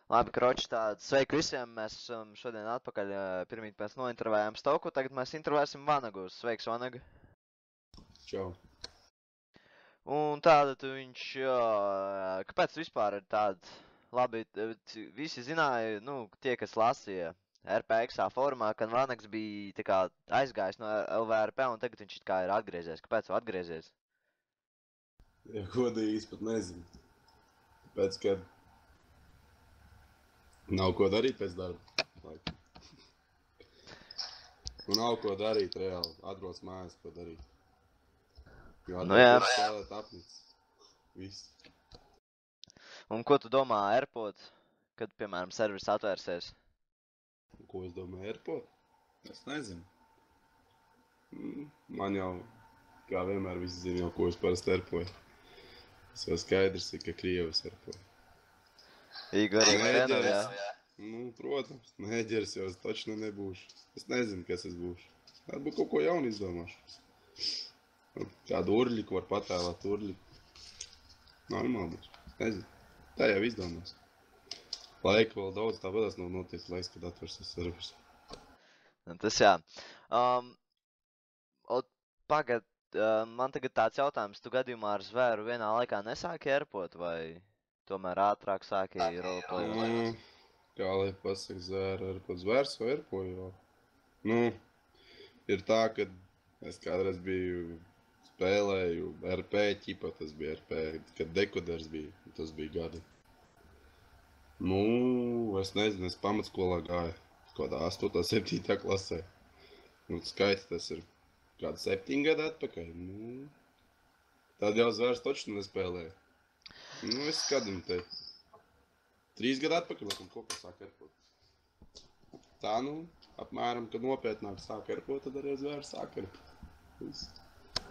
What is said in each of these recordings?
Labi, kroči, tād sveiki visiem, mēs esam šodien atpakaļ, pirmīt mēs nointervējām Stoku, tagad mēs intervēsim Vanagu. Sveiks, Vanaga. Čau. Un tātad viņš, kāpēc vispār ir tāds, labi, visi zināja, nu, tie, kas lasīja RPXā formā, kad Vanags bija tā kā aizgājis no LVRP un tagad viņš kā ir atgriezies. Kāpēc vēl atgriezies? Ja godīgi, es pat nezinu. Tāpēc, ka nav ko darīt pēc darba. Un nav ko darīt reāli. Atbrauc mājās, ko darīt. Jo Nu jā. spēlēt apnicis. Viss. Un ko tu domā AirPod, kad, piemēram, servis atvērsies? Ko es domāju AirPod? Es nezinu. Man jau, kā vienmēr, visi zina jau, ko es parasti AirPoju. Tas jau skaidrs ir, ka Krievas AirPoju. Igor, jā? Nu, protams, neģers jau es taču nebūšu. Es nezinu, kas es būšu. Varbūt kaut ko jaunu izdomāšu. Kādu urļiku var patēlāt urļiku. Normāli būs. Nezinu. Tā jau izdomās. Laika vēl daudz, tāpēc nav notiek laiks, kad atvērsies servers. Tas jā. Pagad, man tagad tāds jautājums, tu gadījumā ar zvēru vienā laikā nesāki AirPod vai tomēr ātrāk sāki roleplayot? Kā lai pasaka zvēru, AirPod zvērs vai AirPod jau? Nu, ir tā, ka es kādreiz biju spēlēju RP ķipa, tas bija RP, kad dekoders bija, tas bija gadi. Nu, es nezinu, es pamatskolā gāju, kādā 8. 7. klasē. Nu, skaiti tas ir kādu 7 gadu atpakaļ. Nu, tad jau zvērs toču nespēlēju. Nu, es skadim te 3 gadu atpakaļ, laikam kaut kā sāk AirPod. Tā, nu, apmēram, kad nopietnāk sāk AirPod, tad arī zvērs sāk AirPod.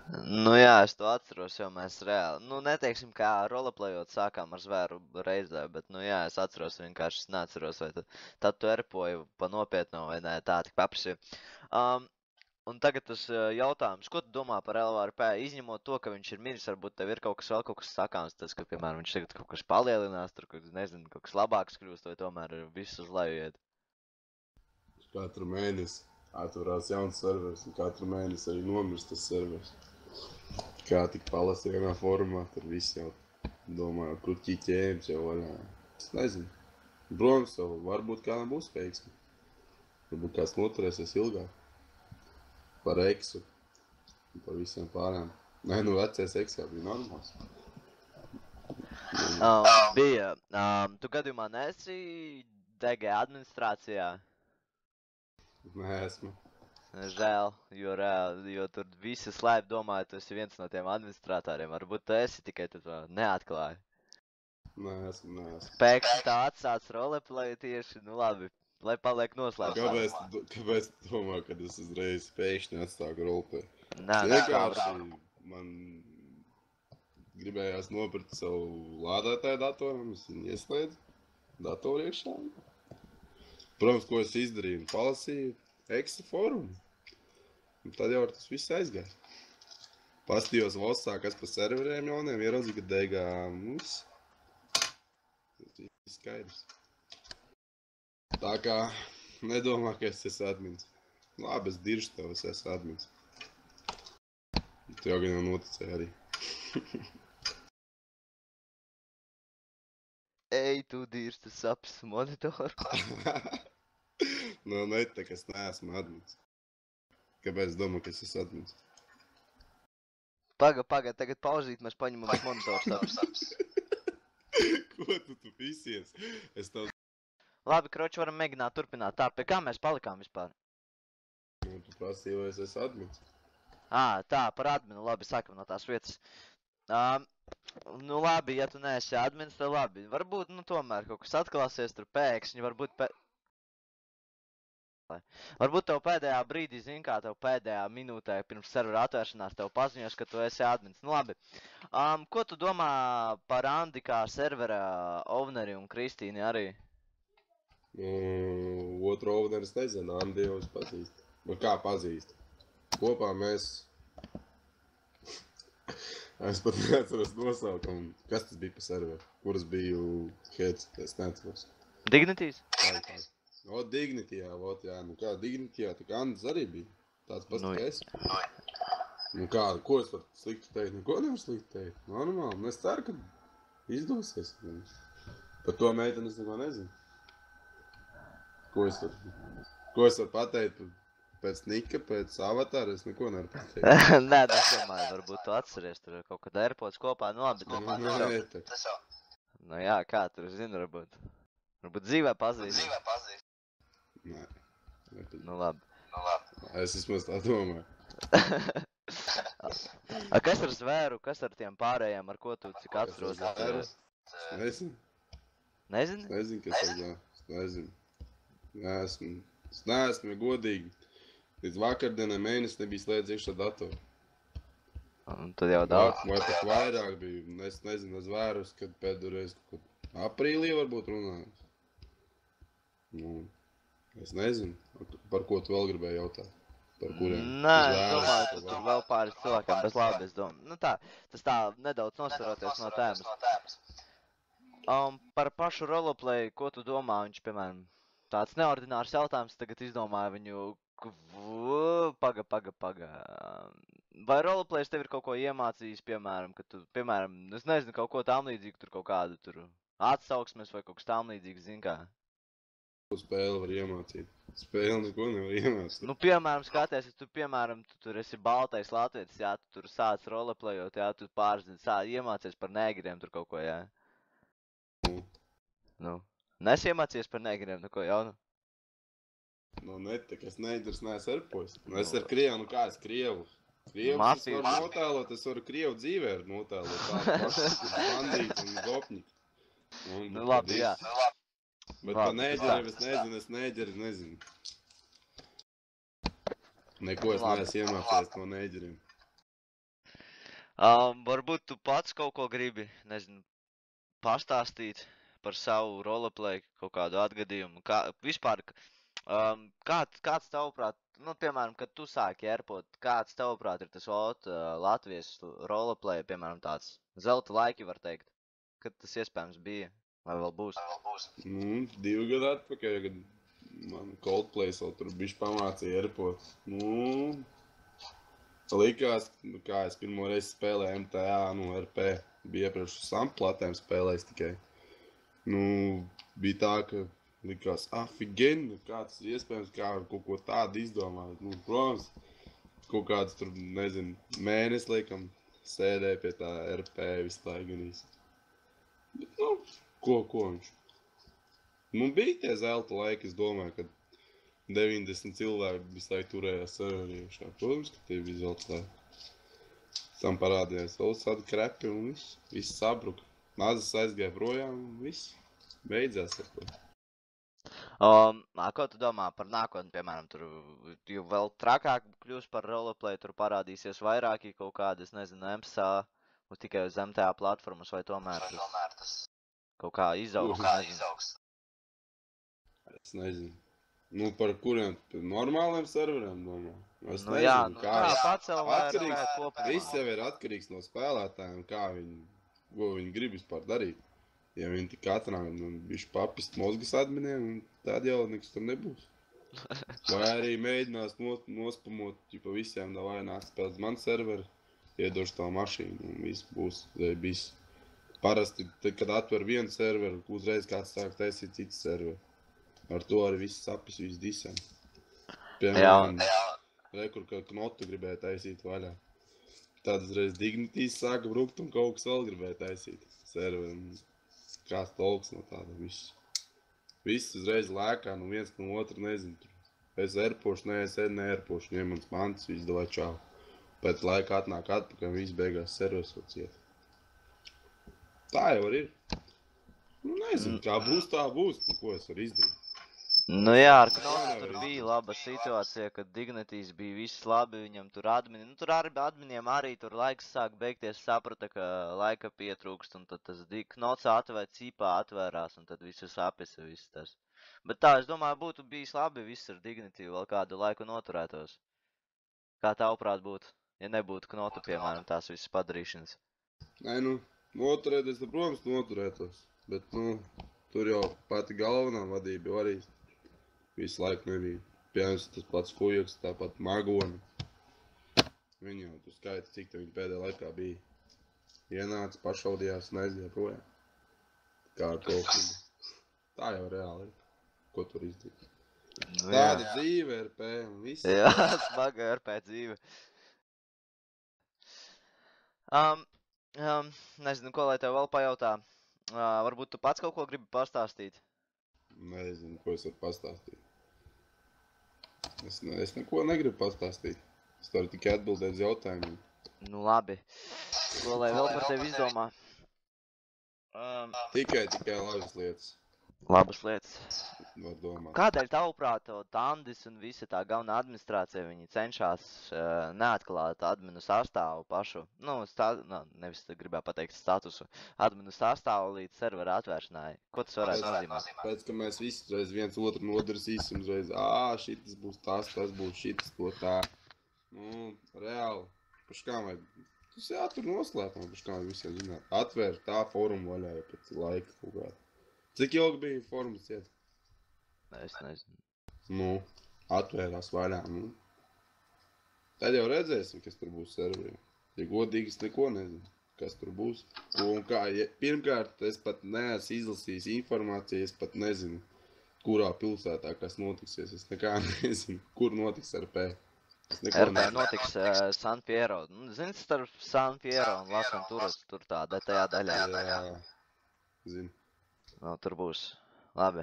Nu jā, es to atceros, jo mēs reāli, nu neteiksim kā roleplayot sākām ar zvēru reizē, bet nu jā, es atceros vienkārši, es neatceros, vai tad tu AirPoju pa nopietno vai nē, tā tik paprasīju. Un tagad tas jautājums, ko tu domā par LVRP, izņemot to, ka viņš ir miris, varbūt tev ir kaut kas sakāms, tas, ka, piemēram, viņš tagad kaut kas palielinās, tur, nezinu, kaut kas labāks kļūst, vai tomēr viss uz leju iet? Katru mēnesi atverās jauns servers, un katru mēnesi arī nomirst tas servers. Kā tik palasa vienā formā, tad viss jau domā, kur ķiķējums jau vaļā. Es nezinu. Protams, jau varbūt kādam būs veiksmi. Varbūt kāds noturēsies ilgāk. Par eksu. Par visiem pārējām. Nē, nu vecais eks jau bija normāls. Bija. Tu gadījumā neesi DG administrācijā? Nē, esmu. Žēl, jo tur visi slēp domāju, tu esi viens no tiem administratoriem. Varbūt tu esi, tikai tu to neatklāji. Nē, esmu. Pēkšņi tā atsāc roleplayu tieši, nu labi, lai paliek noslēpts. Kāpēc tu domā, kad es uzreiz pēkšņi atstāku roleplayu? Nē, vienkārši man gribējās nopirkt savu lādētāju datoru, un es viņu ieslēdzu datoru iekšā. Protams, ko es izdarīju, palasīju Eksa forumu. Un tad jau ar tas viss aizgāja. Pastījos Vossā, kas pa serveriem jauniem, ieraudzīju, ka deigā mums. Tas viss skaidrs. Tā kā nedomā, ka es esmu admins. Labi, es diršu tev, es esmu admins. Tu jau gan jau noticēji arī. Ej, tu dirš, tu sapis monitoru. Nu, nete, ka es neesmu admins. Kāpēc es domāju, ka es esmu admins? Paga, tagad pauzīt, mēs paņemam monitoru sapis. Ko tu visies? Es tev... Labi, kroči, varam mēģināt turpināt. Tā, pie kā mēs palikām vispār? Nu, tu prasīji, vai es esmu admins. Tā, par adminu, labi, sākam no tās vietas. Nu labi, ja tu neesi admins, tad labi. Varbūt, nu tomēr kaut kas atklāsies tur pēkšņi, Varbūt tev pēdējā brīdī, zin kā, tev pēdējā minūtē pirms servera atvēršanās tev paziņos, ka tu esi admins. Nu labi. Ko tu domā par Andi kā servera owneri un Kristīni arī? Otru owneris nezinu, Andi jau es pazīstu. Nu kā pazīstu? Kopā mēs Es pat neatceros nosaukumu. Kas tas bija pa serveru? Kuras biju heads? Es neatceros. Dignities? O, Dignity, jā, vot, jā. Nu kā, Dignity, jā, tā kā Andis arī bija. Tāds pats, Nu, kā es. Nu kā, ko es varu slikti teikt? Neko nevar slikti teikt. Normāli. Un es ceru, ka izdosies. Par to meiteni es neko nezinu. Ko es varu pateikt pēc Nika, pēc Avatāra? Es neko nevaru pateikt. Nē, es domāju, varbūt tu atceries tur kaut kad AirPods kopā, nu labi, Tas jau. Nu jā, kā tur zinu, varbūt. Varbūt dzīvē pazīst. Nē. Nu labi. Es vismaz tā domāju. Kas ar zvēru, kas ar tiem pārējiem, ar ko tu cik atceros? Es nezinu. Nezini? Nezinu, kas tas ir. Es nezinu. Es neesmu godīgi. Līdz vakardienai mēnesi nebija slēdz iekšā datoru. Un tad jau daudz. Vai pat vairāk bija. Es nezinu, es vērus, kad pēdējais aprīlī varbūt runājums. Nu, es nezinu, par ko tu vēl gribēji jautāt. Par kuriem? Nē, es domāju, ka tur vēl pāris cilvēkiem, bet labi, es domāju. Nu tā, tas tā nedaudz nosvaroties no tēmas. Par pašu roleplay, ko tu domā, viņš, piemēram, tāds neordinārs jautājums, tagad izdomāja viņu, paga. Vai roleplays tev ir kaut ko iemācījis, piemēram, ka tu, piemēram, es nezinu, kaut ko tam līdzīgu, tur kaut kādu tur atsauksmes vai kaut kas tam līdzīgs, zin kā? Spēli var iemācīt. Spēli neko nevar iemācīt. Nu, piemēram, skaties, ja tu, piemēram, tu tur esi baltais latvietis, jā, tu tur sāc roleplayot, jā, tu pārzini, iemācies par negriem tur kaut ko, jā. Nu, nesiemācies par negriem, nu ko jaunu? Nu, netik, es neidars neesmu erpojis. Es ar Krievu, nu kā es Krievu? Krievu es Mafiju. varu notēlot, es varu Krievu dzīvē notēlot. Tādu pašu, bandīti un gopņi. Nu, labi, jā. Bet pa neģeri es nezinu. Neko es neesmu iemācījies no neģeriem. Varbūt tu pats kaut ko gribi, nezinu, pastāstīt par savu roleplay, kaut kādu atgadījumu. Vispār, kāds tavuprāt, nu, piemēram, kad tu sāki erpot, kāds tavuprāt ir tas Latvijas roleplay, piemēram, tāds zelta laiki, var teikt, kad tas iespējams bija, vai vēl būs? Nu, 2 gadu atpakaļ, kad man Coldplay vēl tur bišķi pamācīja erpot. Nu, likās, kā es pirmo reizi spēlēju MTA, nu, RP. Bija iepriekš uz samplatēm spēlējis tikai. Nu, bija tā, ka likās, afigeni, kā tas ir iespējams, kā kaut ko tādu izdomāt. Nu, protams, kaut kāds tur, nezinu, mēnesi, liekam, sēdēja pie tā RP visu laiku ganīs. Bet, nu, ko viņš? Nu, bija tie zelta laiki, es domāju, ka 90 cilvēki visu laiku turējās serverī iekšā. Protams, ka tie bija zelta laiki. Tam parādījās vēl tādi krepi un viss sabruka. Mazas aizgāja projām un viss beidzās ar to. Ko tu domā par nākotni, piemēram, tur jau vēl trakāk kļūs par roleplay, tur parādīsies vairāki kaut kādi, es nezinu, MSA, tikai uz MTA platformas, vai tomēr tas kaut kā izaugs? Es nezinu. Nu, par kuriem normāliem serveriem domā? Es Nu nezinu, jā, nu kā pacel vairāk atkarīgs. kopumā. Viss jau ir atkarīgs no spēlētājiem, ko viņi grib vispār darīt. Ja viņi tik atrāk, nu, bišķi papist mozgas adminiem, tad jau nekas tur nebūs. Vai arī mēģinās nospamot, pa visiem davai nāk spēlēt man serveri, iedošu tā mašīnu un viss būs. Parasti, tad, kad atver vienu serveru, uzreiz kāds sāk taisīt citu serveru. Ar to arī viss sapis, viss disam. Piemēram, rekur, ka knotu gribēja taisīt vaļā. Tad uzreiz Dignitīs sāka brukt un kaut kas vēl gribēja taisīt serveri. Kāds tolks no tāda viss. Viss uzreiz lēkā, nu viens no otru nezinu. Es erpošu, es neerpošu, ņem mans mantas, viss davai čau. Pēc laika atnāk atpakaļ, viss beigās serveris vēl ciet. Tā jau ir. Nu nezinu, kā būs, tā būs, nu ko es varu izdarīt. Nu jā, ar Knotu tur bija laba situācija, kad Dignitīs bija viss labi, viņam tur admini, nu tur adminiem arī tur laiks sāk beigties, saprata, ka laika pietrūkst, un tad tas Knots cīpā atvērās, un tad visu sapisa, viss tas. Bet tā, es domāju, būtu bijis labi viss ar Dignitī vēl kādu laiku noturētos. Kā tavuprāt būtu, ja nebūtu Knotu, piemēram, tās visas padarīšanas? Nē, nu, noturēties, tad, protams, noturētos. Bet, nu, tur jau pati galvenā vadība jau arī visu laiku nebija. Piemēram, tas pats Fujaks, tāpat Magoni. Viņi jau tu skaiti, cik te viņi pēdējā laikā bija. Ienāca, pašaudījās un aizgāja projām. Kā ar kaut ko. Tā jau reāli ir. Ko tur izdarīt? Nu, Tāda dzīve ir pēm, viss. Jā, smaga RP dzīve. Nezinu, ko lai tev vēl pajautā. Varbūt tu pats kaut ko gribi pastāstīt? Nezinu, ko es varu pastāstīt. Es neko negribu pastāstīt. Es varu tikai atbildēt uz jautājumiem. Nu labi. Ko lai vēl par tevi izdomā? Tikai labas lietas Labas lietas. var domāt. Kādēļ tavuprāt Tandis un visa tā galvenā administrācija viņi cenšas neatklāt adminu sastāvu pašu, nu, nevis gribēju pateikt statusu, adminu sastāvu līdz servera atvēršanai? Ko tas varētu nozīmēt? Pēc, ka mēs visi reiz viens otru nodarsīsim, reiz, šitas būs tas būs šitas, to tā. Nu, reāli, paškām vajag, tas jātur noslēpumā, paškām vajag visiem zināt. Atvērt tā forumu vaļā jau pēc laika kaut kādā. Cik ilgi bija forums iet? Es nezinu. Nu, atvērās vaļā, nu. Tad jau redzēsim, kas tur būs serverī. Ja godīgi, es neko nezinu, kas tur būs. Un kā, pirmkārt, es pat neesmu izlasījis informāciju, es pat nezinu, kurā pilsētā kas notiksies. Es nekā nezinu, kur notiks RP. RP notiks San Fierro. Zini, starp San Fierro un Las Venturas tur tā tajā daļā. Jā, zinu. No, tur būs. Labi.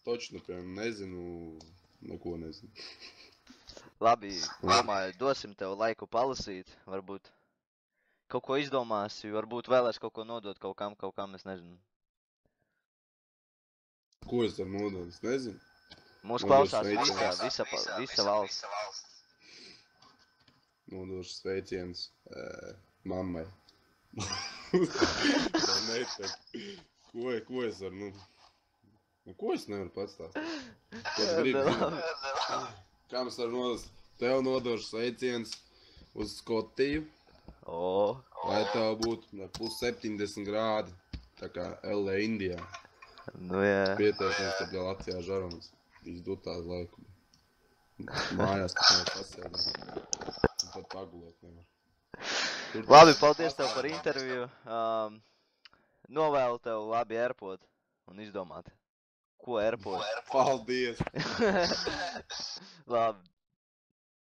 Točno, piemēram, nezinu, neko nezinu. Labi, domāju, dosim tev laiku palasīt, varbūt kaut ko izdomāsi, varbūt vēlēs kaut ko nodot kaut kam, es nezinu. Ko es varu nodot, es nezinu. Mūs klausās visa valsts. Nodošu sveiciens mammai. Ko es varu, ko es nevaru pastāstīt? Ko tu gribi zināt? Kā mēs varam nodot? Tev nodošu sveiciens uz Skotiju. Lai tev būtu plus 70 grādi, tā kā LA Indijā. Nu jā. Pieteikums, kad vēl Latvijā žarums. Izdot tādu laiku. Mājās, kad nevar pasēdēt. Un pat pagulēt nevar. Labi, paldies tev par interviju. Novēlu tev labi airpot un izdomāt, ko airpot. Paldies! Labi.